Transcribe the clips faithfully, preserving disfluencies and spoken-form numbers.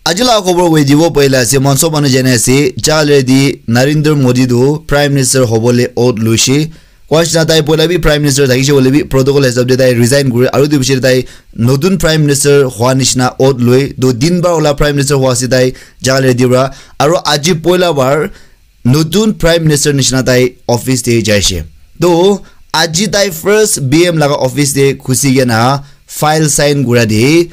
Aji la khobor koi dibo paila ase, mon sob manu jane ase, Jaga Lady Narendra Modi tu Prime Minister hobole oath luishe. Koa nishina tai poila bi Prime Minister thakishe hoile bi protocol hisab de tai resign kure, aru etu piche de tai notun Prime Minister hua nishina oath loi, to din bar ola Prime Minister hua ase tai Jaga Lady pra, aru aji poila bar notun Prime Minister nishina tai office de jaishe. To aji tai first B M laga office de khusi kena file sign kura de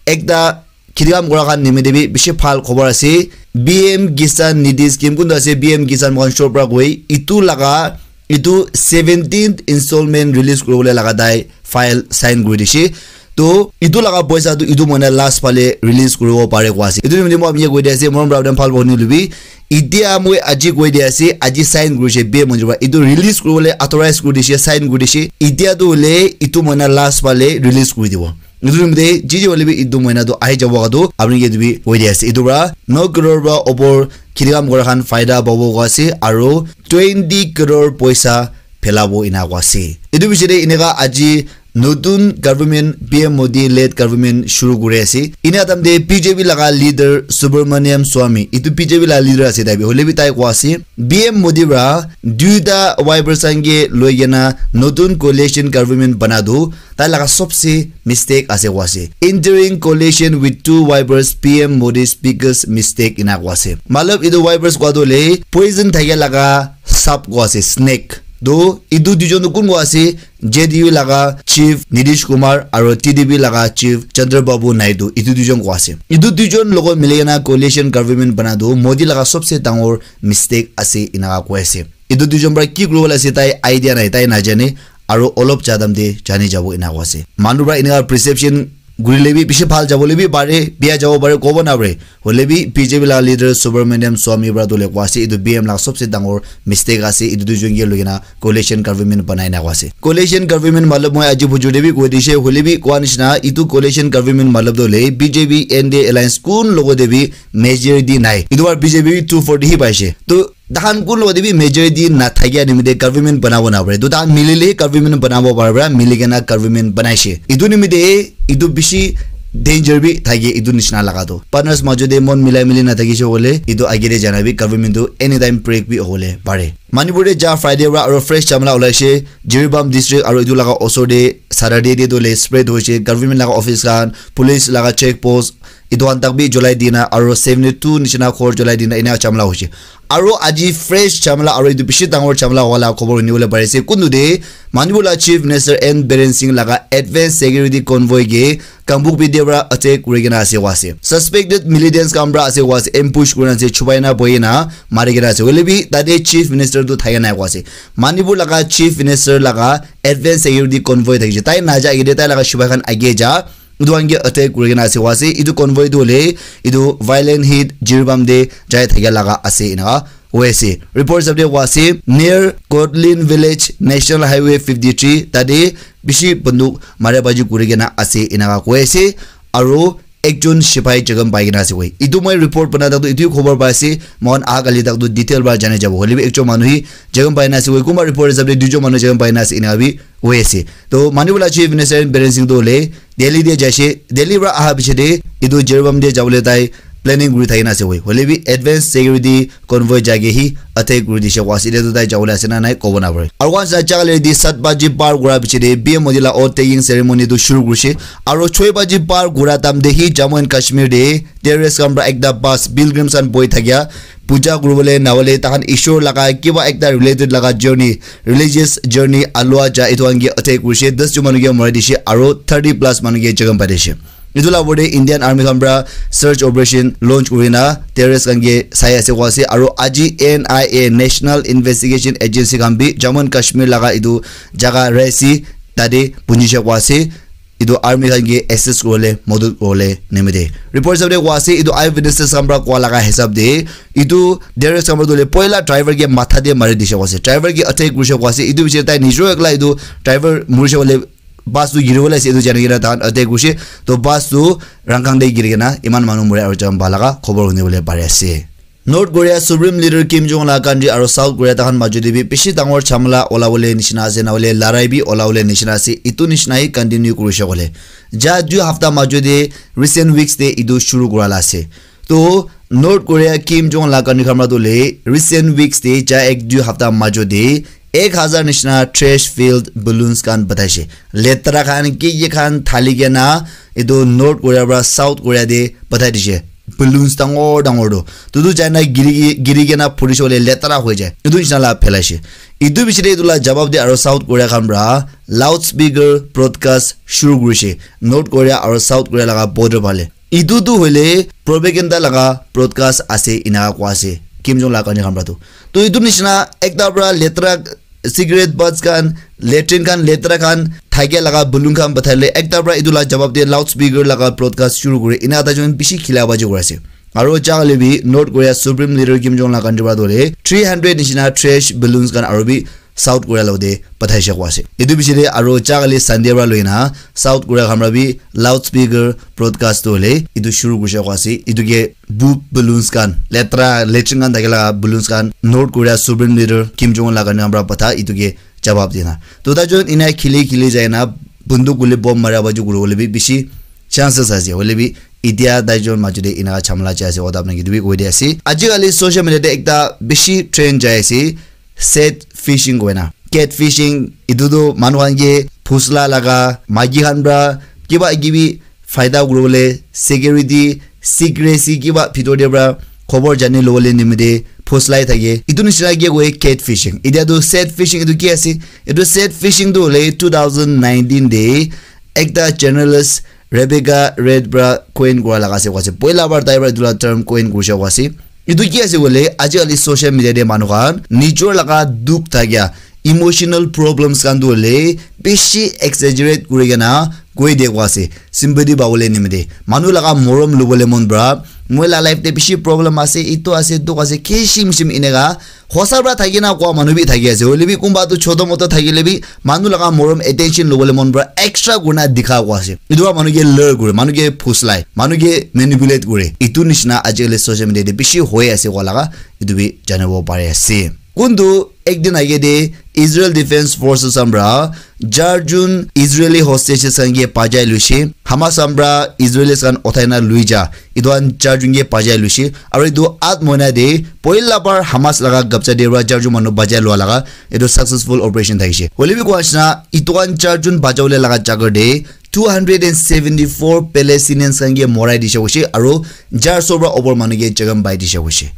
ekta kheti kam kura khan nimite bi bishi bhal khobor ase. B M Kisan Nidhi Scheme kuntu ase, B M Kisan moikhan short pra koi, itu laga, itu seventeenth installment release kuribole laga tai file sign kuri dishe. To itu laga poisa tu itu moina last phale release kuribo pare koa ase. Itu nimite moi apni ke koi di ase, morom pra apni bhal pani lubi. Itia moi aji koi di ase, aji sign kurishe B M Modi pra. Itu release kuribole authorize kuri dishe, sign kuri dishe. Itia tu hoile itu moina last phale release kuri dibo. Etu nimite ji ji hoile bi etu moina tu ahi jabo ka tu apni ke etu bi koi di ase. Etu pra no crore pra opor kheti kam kura khan faida pabo koa ase aru twenty crore poisa phelabo ena koa ase. Etu piche de eneka aji notun government B M Modi led government shuru kuri ase. Ena time de B J P laga leader Subramaniam Swami, etu B J P laga leader ase tai bi, hoile bi tai koa ase B M Modi pra duita Y P S khan ke loi kena notun coalition government bana tu tai laga sobse mistake ase koa ase. Entering coalition with two Y P S, P M Modi's biggest mistake ena koa ase. Matlab etu Y P S koa tu hoile poison thake laga sap koa ase, snake. To etu duijon tu kun koa ase? J D U laga chief Nitish Kumar aru T D P laga chief Chandrababu Naidu, etu duijon koa ase. Etu duijon logot mili kena coalition government bana tu Modi laga sobse dangor mistake ase ena koi ase. Etu duijon pra ki kuribole ase tai idea nai, tai najane, aru olop jadam de jani jabo ena koa ase. Manu pra eneka perception gurile bi bishi bhal jabole bi pare, bia jabo pare, kobo na pare. Hoile bi B J P laga leader Subramaniam Swami pra tu hoile koa ase, etu B M laga sobse dangor mistake ase, etu duijon ke loi kena coalition government banai na koa ase. Coalition government matlab moi aji bujur de bi koi dishe, hoile bi koa nishina etu coalition government matlab tu hoile B J P N D A alliance kun logot de bi majority nai. Etu bar B J P bi two forty hi paishe. To Tahan kun logot de bi majority na thakia nimite government banabo na pare. To tahan milile government banabo pare pra, mili kena government banaishe. Etu nimite etu bishi danger bi thake etu nishina laga to. Partners majo de mon milai mili na thakishe hoile, etu age de jana bi government to anytime break bi hobole pare. Manipur de ja Friday pra aru fresh chamla ulaishe, Jiribam district aru etu laga osor de Saturday de to le spread hoishe, government laga office khan, police laga check post, etu khan tak bi julai dina aru seventy two nishina ghor julai dina ena chamla hoishe. Aru aji fresh chamla aru etu bishi dangor chamla wala khobor huni bole pari ase. Kuntu de Manipur la Chief Minister N Biren Singh laga advance security convoy ke Kangpokpi de pra attack kuri kena ase koa ase. Suspected militants khan pra ase koa ase, ambush kuri na ase, chupai na bohi na mari kena ase. Hoile bi tate Chief Minister tu thaka nai koa ase. Manipur laga Chief Minister laga advance security convoy thakishe. Tai naja age de tai laga chupai khan age ja. Etu khan ke attack kuri kena ase koa ase. Etu convoy tu hoile etu violent hit Jiribam de jai thakia laga ase ena koi ase. Report hisab de koa ase near Kotlin village National Highway fifty three tate bishi banduk mara baji kuri kena ase ena koi ase. Aru ekjon sipai jakham pai kena ase koi. Etu moi report bana tak tu etu khobor pai ase. Moikhan aha kali tak tu detail para jani jabo. Hoile bi ekjon manu hi jakham pai na ase koi. Kunba report hisab de duijon manu jakham pai na ase ena bi koi ase. To Manipur la Chief Minister Biren Singh tu hoile Delhi de jaise, Delhi para aha piche de etu Jiribam de jabole tai planning kuri thaki na ase koi. Hoile bi advance security convoy jai ke hi attack kuri dishe koa ase. Etia tu tai jabole ase na nai kobo na pare. Aru once na jaga le di sat baji par kura piche de P M Modi la oath taking ceremony tu shuru kurishe. Aru choi baji par kura time de hi Jammu and Kashmir de terrorist khan para ekta bus pilgrims khan bohi thakia puja kuribole na hoile takhan Ishwar laga kiba ekta related laga journey, religious journey alua ja etu khan ke attack kurishe, das jon manu ke mari dishe aru thirty plus manu ke jakham pai dishe. Etu la opor te Indian Army khan para search operation launch kuri na terrorist khan ke sai ase koa ase aru aji N I A, National Investigation Agency khan bi Jammu and Kashmir laga etu jaga Raisi tate punjishe koa ase. Etu army khan ke assist kuribole madad kuribole nimite. Report hisab te koa ase, etu eye witnesses khan para koa laga hisab te, etu terrorist khan para tu hoile poila driver ke matha te mari dishe koa ase. Driver ke attack kurishe koa ase. Etu piche tai nijor ekla etu driver murishe koile bus tu giri bole ase, etu jani kena tahan attack kurishe. To bus tu rangkang te giri kena iman manu mura aru jam ba laga khobor huni bole pari ase. North Korea Supreme Leader Kim Jong Un la country aru South Korea takhan majo te bi bishi dangor jhamala ola bole nishina ase, na hoile larai bi ola bole nishina ase. Etu nishina hi continue kurishe koile. Ja dui hafta majo te recent weeks te etu shuru kura la ase. To North Korea Kim Jong la country khan pra tu le recent weeks te ja ek dui hafta majo te ek hazar nishina trash filled balloons khan pathaishe. Letra khan ki ki khan thali kena etu North Korea pra South Korea te pathai dishe. Balloons dangor dangor tu. Tutu jaina giri, giri kena phurishe hoile letra hoi jai. Etu nishina la phelaishe. Etu bichite etu la jawab de aro South Korea khan pra loudspeaker broadcast shuru kurishe. North Korea aro South Korea laga border phale. Etu tu hoile propaganda laga broadcast ase ena koa ase. Kim Jong la country khan pra tu. To etu nishina ekta pra letra cigarette butts khan, latrine khan, letra khan, thakia laga balloon khan pathaile ekta pra etu la jawab de loudspeaker laga broadcast shuru kure. Ena ta jon bishi khila baji kure ase. Aro chakale bi North Korea Supreme Leader Kim Jong la country pra tu hoile three hundred nishina trash balloons khan aro bi South Korea lo de pathaishe koa ase. Etu bichite aro chakale Sunday pra loina South Korea khan pra bi loudspeaker broadcast tu hoile etu shuru kurishe koa ase. Etu ke poop balloons khan, letra, latrine khan thakila balloons khan North Korea Supreme Leader Kim Jong Un la khan pra patha etu ke jawab dina. To ta jon ena khili khili jaina bunduk guli bomb mara baji kuru hoile bi bishi chances ase. Hoile bi etia tai jon majo de ena jhamla jai ase, oda apna ki tu bi koi de ase. Aji kali social media de ekta bishi trend jai ase, set fishing koina. Cat fishing, etu tu manu khan ke phusla laga, maiki khan pra kiba kibi faida kuribole, security, secrecy kiba bhitor te pra khobor jani lobole nimite phuslai thake. Etu nishina ke koi cat fishing. Etia tu set fishing etu ki ase? Etu set fishing tu hoile two thousand nineteen te ekta journalist Rebecca Reed pra coin kura laga ase koa ase. Poila bar tai pra etu la term coin kurishe koa ase. Etu ki ase koile, aji kali social media de manu khan nijor laga dukh thakia emotional problems khan tu hoile bishi exaggerate kuri kena koi de koa ase. Sympathy pabole nimite, manu laga morom lubole mon pra, moi la life de bishi problem ase, etu ase, dukh ase, kishim shim eneka hosa pra thaki na koa manu bi thaki ase. Hoile bi kunba tu choto moto thakile bi manu laga morom attention lobole mon pra extra kurna dikha koa ase. Etu pra manu ke lure kure, manu ke phuslai, manu ke manipulate kure. Etu nishina aji kali social media de bishi hoi ase koa laga etu bi janibo pari ase. Kuntu ek din age de Israel Defense Forces khan pra char jon Israeli hostages khan ke bachai luishe. Hamas khan pra Israelis khan uthai na lui ja. Etu khan char jon ke bachai luishe. Aro etu at moina de poila bar Hamas laga gabcha de pra char jon manu bachai lua laga etu successful operation thakishe. Hoile bi koa nishina etu khan char jon bachawole laga jaga de two hundred and seventy four Palestinians khan ke morai dishe koishe aro char so pra upor manu ke jakham pai dishe koishe.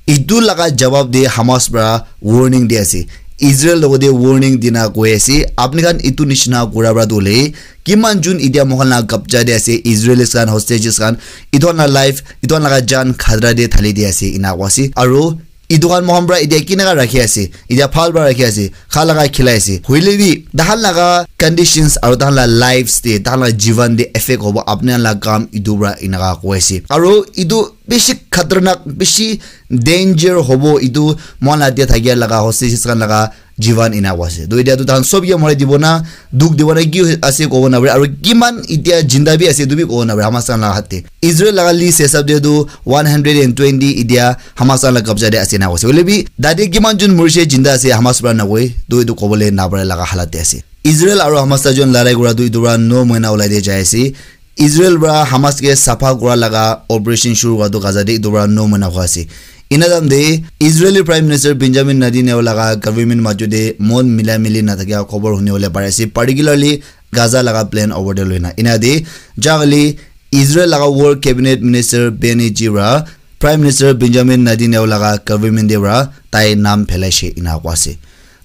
Etu laga jawab de Hamas pra warning di ase. Israel logote warning dina koi ase, apni khan etu nishina kura pra tu hoile kiman jon etia moikhan la gabcha de ase, Israelis khan, hostages khan, etu khan la life, etu khan laga jan khatra de thali di ase, ena koa ase. Aro etu khan moikhan pra etia kineka rakhi ase, etia bhal pra rakhi ase, kha laga khilai ase. Hoile bi tahan laga conditions aro tahan la lives de, tahan la jivan de effect hobo apni khan la kam etu pra, eneka koi ase. Aro etu bishi khatarnak, bishi danger hobo etu moikhan la de thakia laga hostages khan laga jivan ena koa ase. To etia tu tahan sob ke morai dibo na, dukh dibo na, ki ase kobo na pare, aro kiman etia jinda bi ase etu bi kobo na pare Hamas khan laga hath de. Israel laga list hisab de tu one hundred and twenty etia Hamas khan la kabja de ase ena koise. Hoile bi tate kiman jon morise jinda ase Hamas pra nakoi, to etu kobole napare laga halat de ase. Israel aro Hamas ta jon larai kura tu etu pra no moina ulai de jai ase. Israel pra Hamas ke sapha kura laga operation shuru hua tu Gaza de etu pra no moina hua ase. Ena time de Israeli Prime Minister Benjamin Netanyahu laga government majo de mon mila mili na thakia khobor huni bole pari ase, particularly Gaza laga plan over de loina. Ena de jagale Israel laga War Cabinet Minister Benny Gantz pra Prime Minister Benjamin Netanyahu laga government de pra tai nam phelaishe ena koa ase.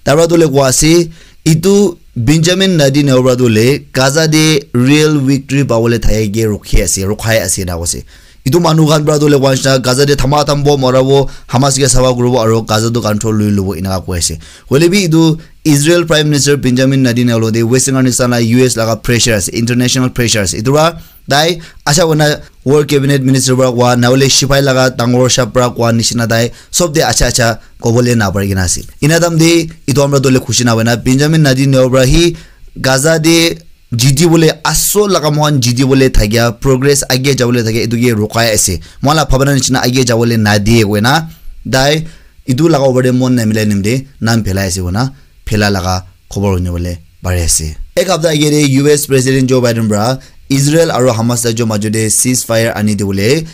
Tar pra tu le koa ase, etu Benjamin Netanyahu pra tu le Gaza de real victory pabole thake ke rukhi ase, rukhai ase ena koa ase. Etu manu khan pra tu le koa nishina Gaza de thama tham bo, mara bo, Hamas ke sapha kuri bo, aro Gaza tu control lui lobo ena koa ase. Hoile bi etu Israel Prime Minister Benjamin Netanyahu lo de Western countries la U S laga pressure ase, international pressure ase. Etu pra tai acha koina War Cabinet Minister pra koa, nahole sipai laga dangor shah pra koa nishina tai sob de acha acha kobole napari kena ase. Ena time de etu amra dole khushi na hoina Benjamin Netanyahu pra hi Gaza de jiti bole, asol laga moikhan jiti bole thakia, progress age jabole thakia, etu ke rukai ase. Moikhan la bhabana nishina age jabole nadie koina tai etu laga opor de mon namilai nimde nam phelai ase koina phela laga khobor huni bole pari ase. Ek hapta age de U S President Joe Biden pra Israel aro Hamas la jo majo de ceasefire ani dibole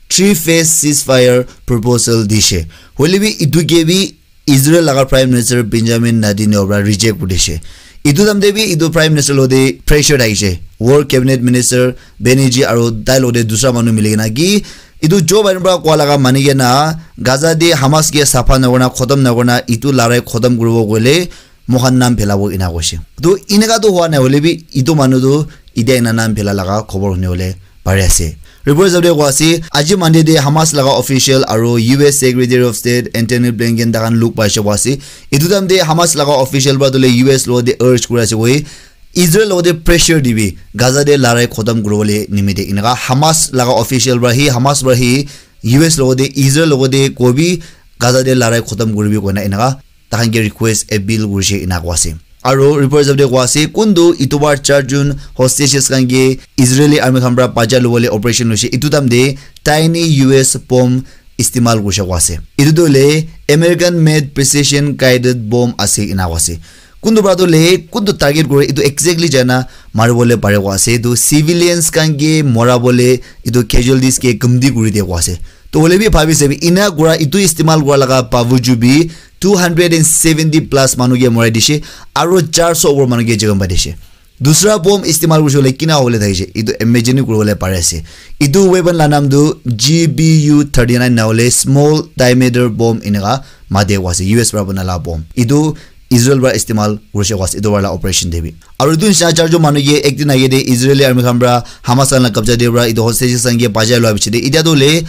three phase ceasefire proposal dishe. Hoile bi itu ke bi Israel laga Prime Minister Benjamin Netanyahu para reject kuri dishe. Itu time te bi itu Prime Minister lo te pressure thakishe. War Cabinet Minister Benny G aru tai lo te dusra manu mili kena ki itu Joe Biden para koa laga mani kena Gaza te Hamas ke sapha nakurna, khotom nakurna, itu larai khotom kuribo koile moikhan nam phelabo ena koishe. To eneka to hua nai hoile bi itu manu to itia ena nam phela laga khobor huni bole pari ase. Report hisab te koa ase, aji Monday te Hamas laga official aru U S Secretary of State Antony Blinken takhan luk paise koa ase. Itu time te Hamas laga official para tole U S lo te urge kuri ase koi, Israel lo te pressure dibi Gaza te larai khotom kuribole nimite. Eneka Hamas laga official para hi, Hamas para hi U S lo te, Israel lo te kobi Gaza te larai khotom kuribi koina eneka takhan ke request appeal kurishe ena koa ase. Aro report hisab te koa ase, kuntu itubar char jun hostages khan ke Israeli army khan para bacha lobole operation loishe, itu time te tiny U S bomb istimal kurishe koa ase. Itu tu le American made precision guided bomb ase ena koa ase. Kuntu para tu le kuntu target kore itu exactly jana maribole pare koa ase. Itu civilians khan ke morabole itu casualties ke kamti kuri de koa ase. To hoile bi bhabi sabi ena kura itu istimal kura laga bavuju bi two hundred and seventy plus manu ke morai dishe, aro char so over manu ke jokhom pai dishe. Dusra bomb istimal kurishe hoile kina hobole thakishe, itu imagine kuribole pari ase. Itu weapon la naam tu G B U thirty nine na hoile small diameter bomb eneka mate koa ase, U S para bana la bomb. Itu Israel para istimal kurishe koa ase, itu para la operation te bi. Aro itu nisina char jon manu ke ek din age te Israeli army khan para Hamas khan la kabja te para itu hostages khan ke bachai lua piche te, itia tu hoile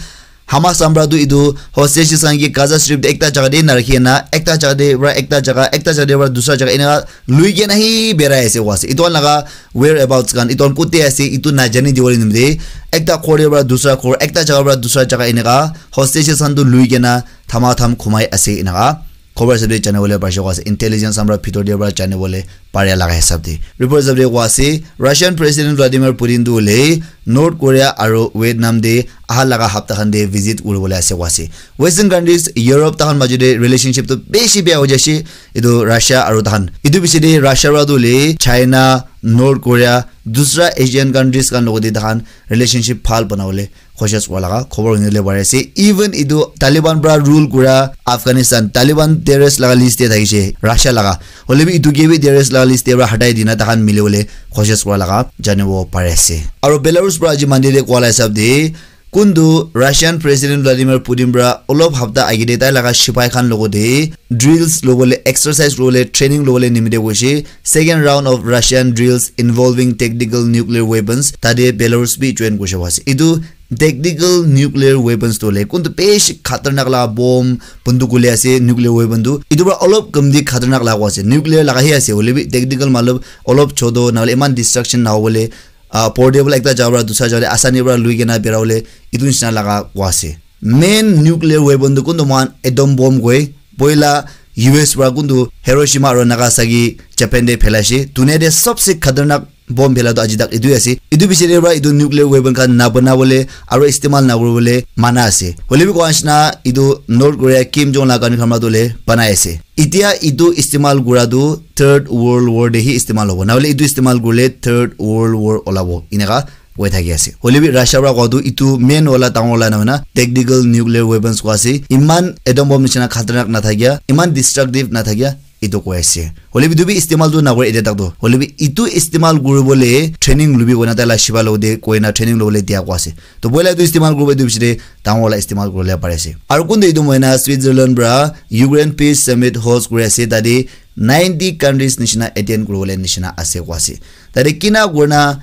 Hamas khan para tu itu hostages khan ke Gaza Strip te ekta jaga te narakhi na, ekta jaga te para ekta jaga, ekta jaga te para dusra jaga, eneka lui kena hi berai ase koa ase. Itu khan laga whereabouts khan, itu khan kote ase, itu najani dibole nimite ekta ghor te para dusra ghor, ekta jaga para dusra jaga, eneka hostages khan tu lui kena thama tham khumai ase, eneka khobor hisab te janibole parishe koa ase, intelligence khan para bhitor te para janibole paria laga hisab te. Report hisab te koa ase, Russian President Vladimir Putin tu hoile North Korea aro Vietnam te aha laga hapta khan te visit kuribole ase koa ase. Western countries, Europe, takhan majo te relationship tu beshi beya hoi jaise, itu Russia aro takhan. Itu piche te Russia para tu hoile China, North Korea, dusra Asian countries khan logote takhan relationship bhal banabole koshish kura laga khobor hunibole pari ase. Even itu Taliban para rule kura Afghanistan, Taliban terrorist laga list te thakishe, Russia laga. Hoile bi itu ke bi terrorist laga list te para hatai dina takhan milibole koshish kura laga janibo pari ase. Aro Belarus para aji Monday te koa la hisab te, kuntu Russian President Vladimir Putin para olop hapta age te tai laga sipai khan logote drills lobole, exercise lobole, training lobole nimite koishe, second round of Russian drills involving tactical nuclear weapons, tate Belarus bi join kurishe koa ase. Itu tactical nuclear weapons tu hoile kuntu beshi khatarnak laga bomb, bunduk hoile ase, nuclear weapon tu. Itu para olop kamti khatarnak laga koa ase. Nuclear laga hi ase, hoile bi tactical matlab olop choto, nahole iman destruction nahobole, ah, portable ekta jaga para dusra jaga te asani para lui kena bera bole, itu nisina laga koa ase. Main nuclear weapon tu kuntu moikhan atom bomb koi, poila U S para kuntu Hiroshima aro Nagasaki Japan te phelaishe. Dunia te sabse khatarnak bomb phela tu aji tak itu ase. Itu piche te para itu nuclear weapon khan na banabole aro istimal na kuribole mana ase. Hoile bi koa nisina itu North Korea Kim Jong laga khan para tu hoile banai ase. Itia itu istimal kura tu Third World War te hi istimal hobo. Nahole itu istimal kurile Third World War olabo. Eneka koi thaki ase. Hoile bi Russia para koa tu itu main wala dangor wala nahoi na tactical nuclear weapons koa ase. Iman atom bomb nisina khatarnak nathakia, iman destructive nathakia, itu koi ase. Hoile bi itu bi istimal tu nakore etia tak tu. Hoile bi itu istimal kuribole training lubi koina tai la sipai logote koina training lobole dia koa ase. To poila itu istimal kuribo itu piche te dangor wala istimal kuribole pari ase. Aro kuntu itu mohina Switzerland para Ukraine Peace Summit host kuri ase, tate ninety countries nisina attend kuribole nisina ase koa ase. Tate kina kurina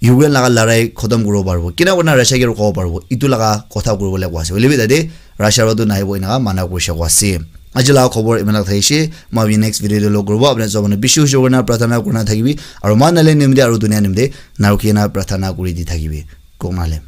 Ukraine laga larai khotom kuribo paribo, kina kurina Russia ke rukabo paribo, itu laga kotha kuribole koa ase. Hoile bi tate Russia para tu nahibo eneka mana kurishe koa ase. Aji laga khobor iman tak thakishe, moi next video te log kuribo. Apni sob manu bishi bishi kurina prarthana kurina thakibi, aro moikhan Nagaland nimite aro dunia nimite narukhi kena prarthana kuri di thakibi. Kong Nagaland.